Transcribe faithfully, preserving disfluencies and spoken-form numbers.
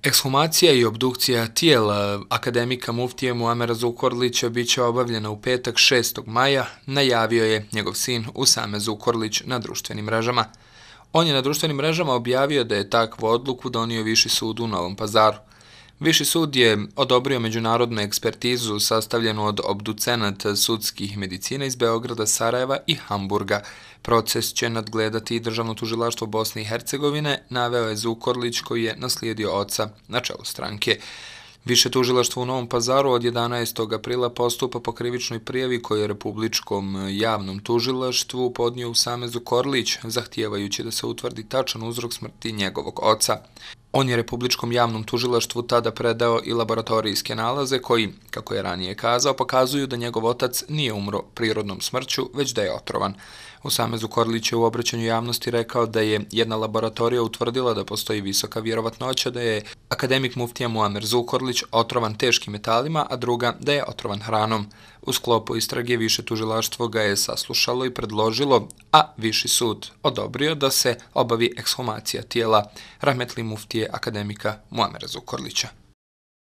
Ekshumacija i obdukcija tijela akademika muftije Muamera Zukorlića bit će obavljena u petak šestog maja, najavio je njegov sin Usame Zukorlić na društvenim mrežama. On je na društvenim mrežama objavio da je takvu odluku donio Viši sud u Novom Pazaru. Viši sud je odobrio međunarodnu ekspertizu sastavljenu od obducenata sudskih medicina iz Beograda, Sarajeva i Hamburga. Proces će nadgledati i Državno tužilaštvo Bosne i Hercegovine, naveo je Zukorlić koji je naslijedio oca na čelu stranke. Više tužilaštvo u Novom Pazaru od jedanaestog aprila postupa po krivičnoj prijavi koju je Republičkom javnom tužilaštvu podnio Usame Zukorlić, zahtijevajući da se utvrdi tačan uzrok smrti njegovog oca. On je Republičkom javnom tužilaštvu tada predao i laboratorijske nalaze koji, kako je ranije kazao, pokazuju da njegov otac nije umro prirodnom smrću, već da je otrovan. Usame Zukorlić je u obraćanju javnosti rekao da je jedna laboratorija utvrdila da postoji visoka vjerovatnoća da je akademik muftija Muamer Zukorlić otrovan teškim metalima, a druga da je otrovan hranom. U sklopu istrage Više tužilaštvo ga je saslušalo i predložilo, a Viši sud odobrio da se obavi ekshumacija tijela rahmetli muftije akademika Muamera Zukorlića.